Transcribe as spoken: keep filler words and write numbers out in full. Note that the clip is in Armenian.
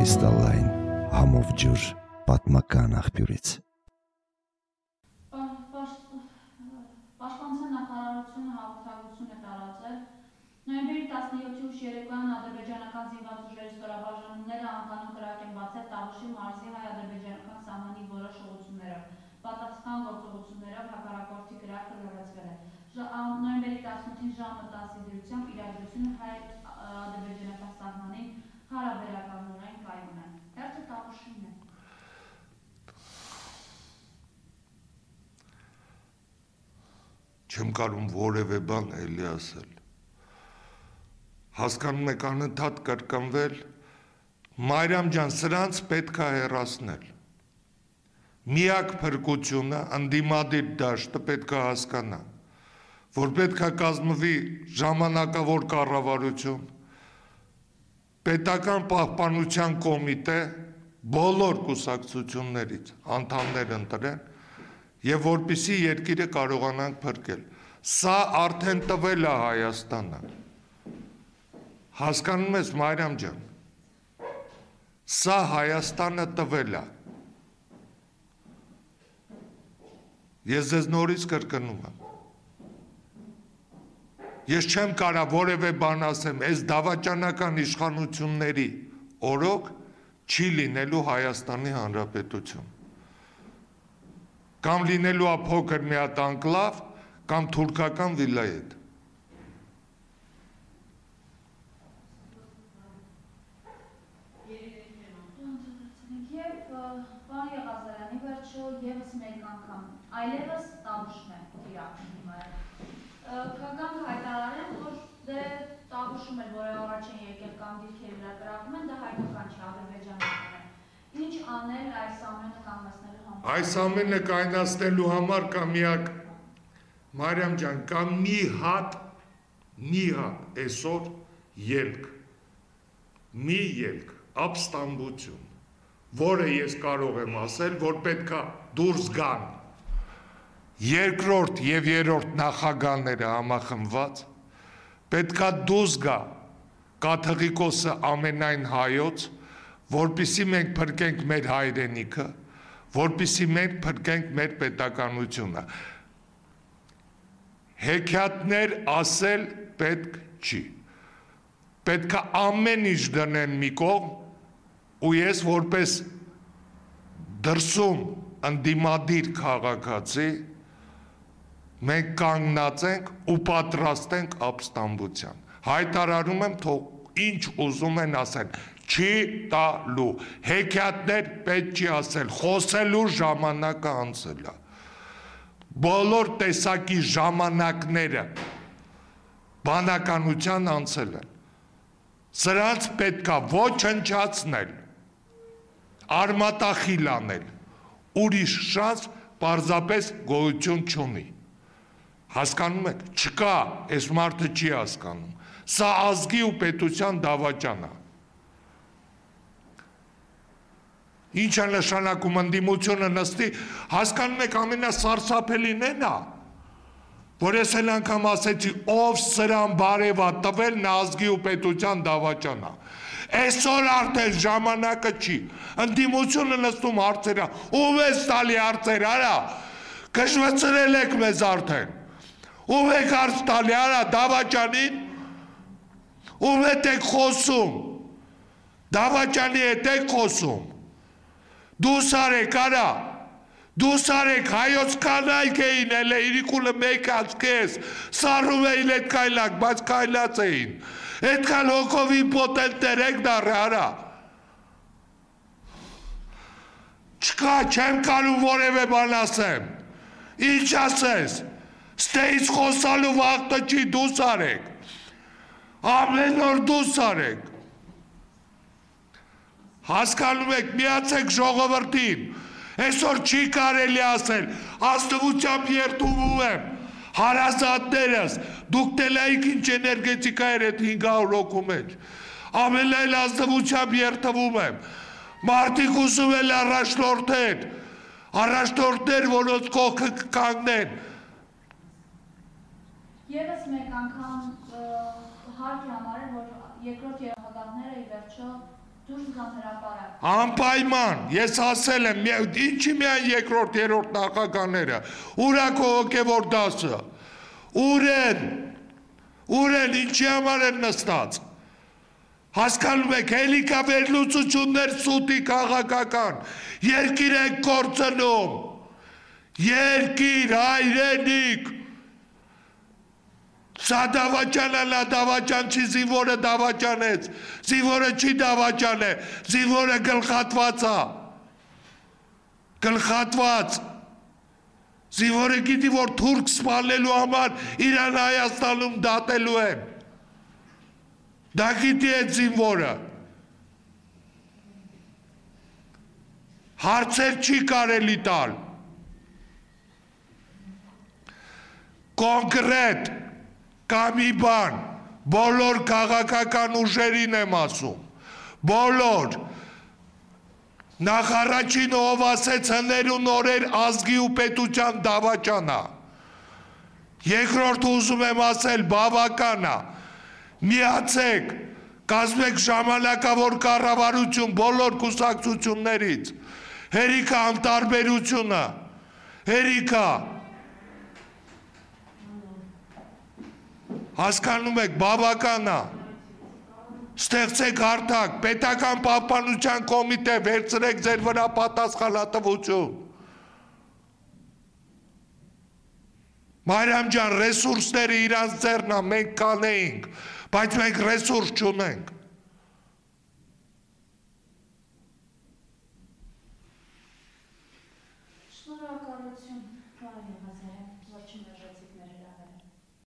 Կրիստալային համով ջուր պատմական աղբյուրից։ Պաշտպանության նախարարությունը հաղորդագրություն է տարածել նոյեմբերի տասնյոթի ուշ երեկոյան ադրբեջանական զինված ուժերի ստորաբաժանումները անկանոն կրակ են բացել Տավուշի մարզի հայ-ադրբեջանական սահմանի որոշ ուղղություններով։ Պատասխան գործողություններով հակառակորդի կրակը լրացվել է։ Նոյեմբերի տասնութին ժամը տասի դրությամբ իրադրությունը հայ-ադրբեջանական սահմանի հարաբերականորեն կայուն է։ Հերթը Տավուշին է։ Չեմ կարում որևէ բան էլի ասել։ Հասկանում եք անընդհատ կրկնվել, Մարիամ ջան, սրանց պետք է հեռացնել։ Միակ փրկությունը ընդդիմադիր դաշտը պետք է հասկանա, որ պետք է կազմվի ժամանակավոր կառավարություն, պետական պահպանության կոմիտե, բոլոր կուսակցություններից անդամներ ընտրեն եւ որպեսզի երկիրը կարողանանք փրկել։ Սա արդեն տվել է Հայաստանը։ Հասկանում ես, Մարիամ ջան, սա Հայաստանը տվել է։ Ես ձեզ նորից կրկնում եմ։ Ես չեմ կարող որևէ բան ասեմ, այս դավաճանական իշխանությունների օրոք չի լինելու Հայաստանի Հանրապետություն։ Կամ լինելու է փոքր մի հատ անկլավ, կամ թուրքական վիլայետ։ Եվ պարոն Եղազարյանի վերջո ևս մեկ անգամ այլևս Տավուշն է կիրակում է։ Կգանք հայտարարեն, որ դե Տավուշում էլ որ առաջ են եկել կամ դիրքերի վրա կրակում են, դա հայկական չի, ադրբեջանական է։ Ինչ անել այս ամենը կանգնեցնելու համար։ Այս ամենը կանգնեցնելու համար կա միակ, Մարիամ ջան, կա մի հատ, մի հատ այսօր ելք, մի ելք, ապստամբություն, որը ես կարող եմ ասել, որ պետք է դուրս գան երկրորդ եւ երրորդ նախագահները համախմբված, պետք է դուրս գա կաթողիկոսը ամենայն հայոց, որպեսզի մենք փրկենք մեր հայրենիքը, որպեսզի մենք փրկենք մեր պետականությունը։ Հեքիաթներ ասել պետք չի։ Պետք է ամեն ինչ դնեն մի կողմ, ու ես որպես դրսում ընդդիմադիր քաղաքացի մենք կանգնած ենք ու պատրաստ ենք ապստամբության։ Հայտարարում եմ, թող ինչ ուզում են ասել, չի տալու, հեքիաթներ պետք չի ասել, խոսելու ժամանակը անցել է։ Բոլոր տեսակի ժամանակները բանականության անցել են։ Սրանց պետք է ոչնչացնել, արմատախիլ անել, ուրիշ շանս պարզապես գոյություն չունի։ Հասկանում եք, չկա, այս մարդը չի հասկանում։ Սա ազգի ու պետության դավաճան է։ Ինչ է նշանակում ընդդիմությունը նստի, հասկանում եք ամենասարսափելին էն է, որ ես էլ անգամ ասեցի, ով սրան բարև է տվել, նա ազգի ու պետության դավաճան է։ Այսօր արդեն ժամանակը չի, ընդդիմությունը նստում հարցերը, ով ես տալի հարցեր, արա, կշվծրել եք մեզ արդեն, ով եք հարց տալի, արա, դավաճանին, ով հետ եք խոսում, դավաճանի հետ եք խոսում, դուս արեք, արա, դուս արեք, հայոց կանայք էին, էլե իրիկուլը մեկ ասկես, սարում էին էդ կայլակ, բայց կայլած էին, էդքան հոգովի պոտենտեր եք դարը, արա, չկա, չեմ կարում որևէ բան ասեմ, ինչ ասես, ստեից խոսալու վաղտը չի, դուս արեք, ամեն օր դուս արեք, հասկանում եք, միացեք ժողովրդին, այսօր չի կարելի ասել, աստվությամբ երդում եմ, հարազատներս, դուք տելայիք ինչ էներգետիկա էր էդ հինգ հարյուր հոգու մեջ, ամենայն աստվությամբ երդվում եմ, մարդիկ ուզում էլ առաջնորդներ, առաջնորդներ, որոնց կողքը կանգնեն։ Եվս մեկ անգամ հարկ է համարել, որ երկրորդ երահագանները ի վերջո Դուրս գան հրապարակ։ Անպայման, ես ասել եմ, ինչի միայն երկրորդ, երրորդ նախագահները, ուր է քո հոգևոր դասը, ուր են, ուր են, ինչի համար են նստած, հասկանում եք, հելիքա վերլուծություններ սուտի քաղաքական, երկիր եք կործնում, երկիր, հայրենիք, սա դավաճան է, նա դավաճան չի, զինվորը դավաճանեց, զինվորը չի դավաճան է, զինվորը գլխատված է, գլխատված, զինվորը գիտի, որ թուրք սպանելու համար իրան Հայաստանում դատելու են, դա գիտի այդ զինվորը, հարցեր չի կարելի տալ, կոնկրետ, կամ մի բան, բոլոր քաղաքական ուժերին եմ ասում, բոլոր, նախարարին ով ասեց հներուն օրեր ազգի ու պետության դավաճանա, երկրորդ ուզում եմ ասել բավականա, միացեք, կազմեք ժամանակավոր կառավարություն բոլոր կուսակցություններից, հերիքա անտարբերությունը, հերիքա, հասկանում եք, բավականա, ստեղծեք հարթակ, պետական պահպանության կոմիտե, վերցրեք ձեր վրա պատասխանատվություն։ Մարիամ ջան, ռեսուրսները իրանց ձեռնա, մենք կանեինք, բայց մենք ռեսուրս չունենք։